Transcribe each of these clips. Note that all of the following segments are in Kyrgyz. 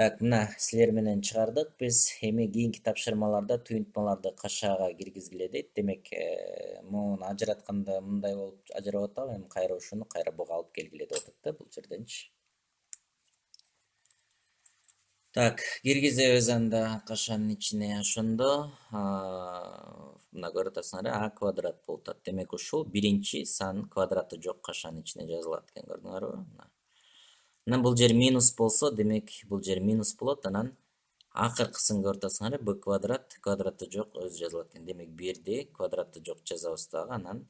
Так, мына силер менен чыгардык биз. Эми кийинки тапшырмаларда туюнтмаларды кашаага киргизгиле дейт. Демек, муну ажыратканда мындай болуп ажырап атабы, эми кайра ушуну кайра буга алып келгиле деп атат да бул жерденчи. Так, киргизебиз анда кашанын ичине ошондо мына көрүп атасыңар, а квадрат болуп атат. Демек ушул биринчи сан квадраты жок кашанын ичине жазылат экен, көрдүңөрбү? Анан бул жер минус болсо, демек бул жер минус болот. Анан акыркысын көрүп атасыңар, b квадрат, квадраты жок өзү жазылат экен. Демек 1-ди квадраты жок жазабыз дагы, анан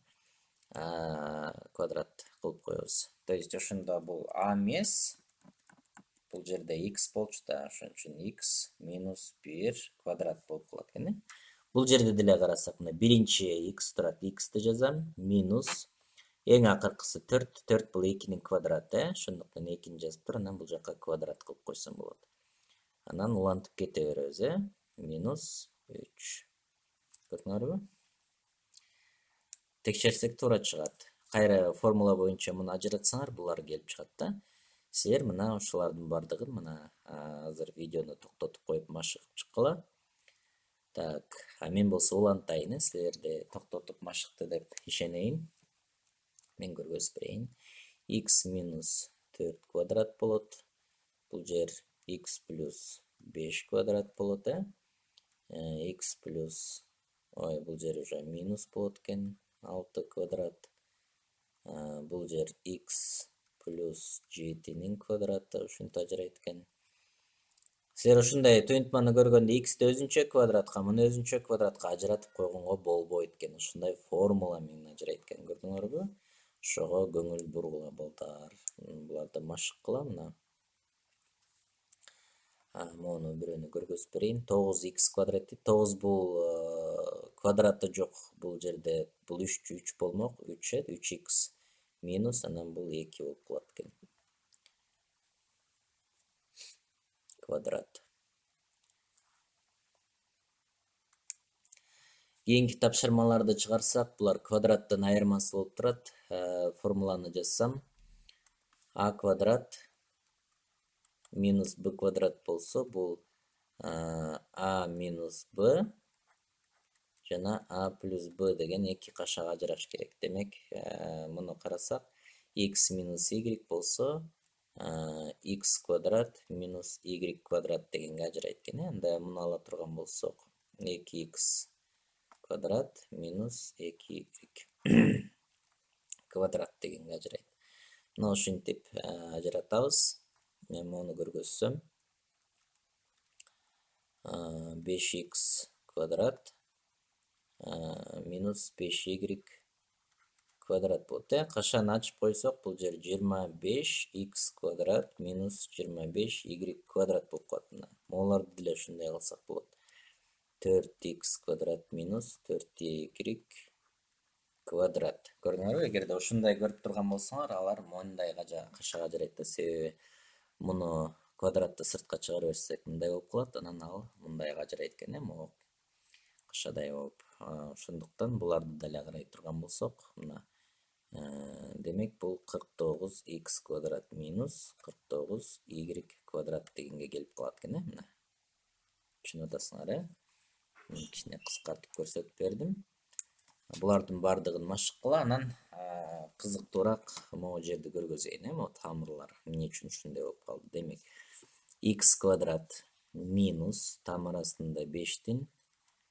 квадрат кылып коебуз. То есть ошондо бул а эмес, бул жерде x болчу да, ошон үчүн x минус 1 квадрат болуп калат экен. Бул жерде деле карасак, мына биринчи x турат, x-ди жазам, минус эң акыркысы 4, 4 бул 2-нин квадраты, ошондуктан 2-ни жазып туруп, анан бул жака квадрат кылып койсом болот. Анан улантып кете беребиз, минус 3. Көрдүңөрбү? Текшерсек туура чыгат. Кайра формула боюнча муну ажыратсаңар, булар келип чыгат да. Силер мына ошолордун бардыгын мына азыр видеону токтотуп коюп машыгып чыккыла. Так, мен болсо улантайын, силерди токтотуп машыкты деп ишенейин. Мен көргөзүп берейин. X минус 4 квадрат болот. Бул жер x плюс 5 квадрат болот, x плюс, бул жер уже минус болот экен, 6 квадрат. Бул жер x плюс 7-нин квадраты, ушинтип ажырайт экен. Силер ушундай туюнтманы көргөндө x-ди өзүнчө квадратка, муну өзүнчө квадратка ажыратып койгонго болбойт экен. Ушундай формула менен ажырайт экен, көрдүңөрбү? Ошого көңүл бургула балдар. Буларды машыккыла мына. Муну бирөөнү көргөзүп берейин. 9x квадрат дейт. 9 бул квадраты жок. Бул жерде бул 3 болмок. 3x минус, анан бул 2 болуп калат экен. Квадрат. Кийинки тапшырмаларды чыгарсак, булар квадраттын айырмасы болуп турат. Формуланы жазсам, а квадрат минус b квадрат болсо, бул a минус b жана a плюс b деген эки кашаага ажыраш керек. Демек, муну карасак, x минус y болсо, x квадрат минус y квадрат дегенге ажырайт экен. Анда муну ала турган болсок, 2x квадрат минус 2y квадрат дегенге ажырайт. Мына ушинтип ажыратабыз. Мен муну көргөзсөм, 5x квадрат минус 5y квадрат болот. Кашаны ачып койсок, бул жер 25x квадрат минус 25y квадрат болуп калат. Могуларды деле ушундай кылсак болот. 4x квадрат минус 4y квадрат. Көрдүңөрбү? Эгерде ушундай көрүп турган болсоңор, алар мындай кашаага ажырайт да. Себеби муну квадратты сыртка чыгарып берсек, мындай болуп калат, анан ал мындайга ажырайт экен, могу кашадай болуп. Ошондуктан буларды деле карай турган болсок, мына демек бул 49x квадрат минус 49y квадрат дегенге келип калат экен, мына. Түшүнүп атасыңар, кичине кыскартып көрсөтүп бердим. Булардын бардыгын машыккыла, анан кызыктуураак могу жерди көргөзөйүн, могу тамырлар эмне үчүн ушундай болуп калды. Демек, x квадрат минус тамыр астында 5-тин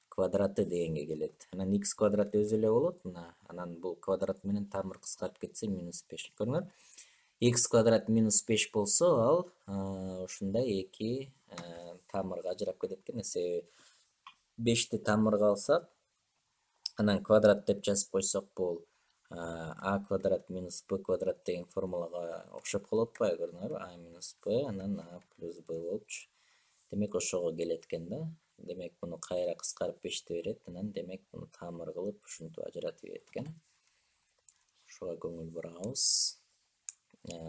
квадраты дегенге келет. Анан x квадрат өзү эле болот, мына. Анан бул квадрат менен тамыр кыскарып кетсе, минус 5. Көрүңөр? X квадрат минус 5 болсо, ал ушундай эки тамырга ажырап кетет экен. Себеби 5-ти тамырга алсак, анан квадрат деп жазып койсок, бул a квадрат минус b квадрат деген формулага окшоп калып атпайбы, көрдүңөрбү? a минус b, анан a плюс b болупчу. Демек, ошого келет экен да. Демек, муну кайра кыскарып 5-те берет, анан демек муну тамыр кылып ушинтип ажыратып берет экен. Ошого көңүл бурабыз.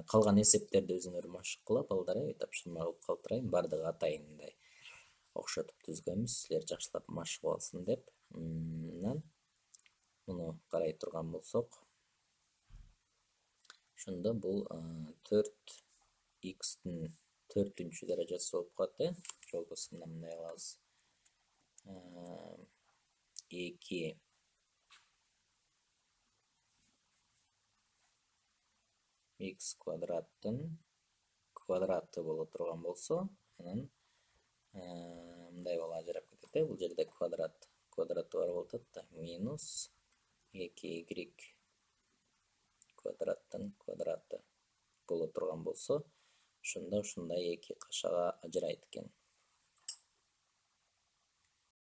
Калган эсептерди өзүңөр машыккыла балдар, тапшырма кылып калтырайын. Бардыгы атайын мындай окшотуп түзгөнбүз, силер жакшылап машыгып алсын деп. Анан муну карай турган болсок, ошондо бул 4x-тин 4-үнчү даражасы болуп калат, жолбосо мындай кылабыз. 2 x квадраттын квадраты боло турган болсо, анан мындай болуп ажырап кетет. Бул жерде квадраты бар болуп атат да, минус 2y квадраттын квадраты боло турган болсо, ошондо ушундай эки кашага ажырайт экен.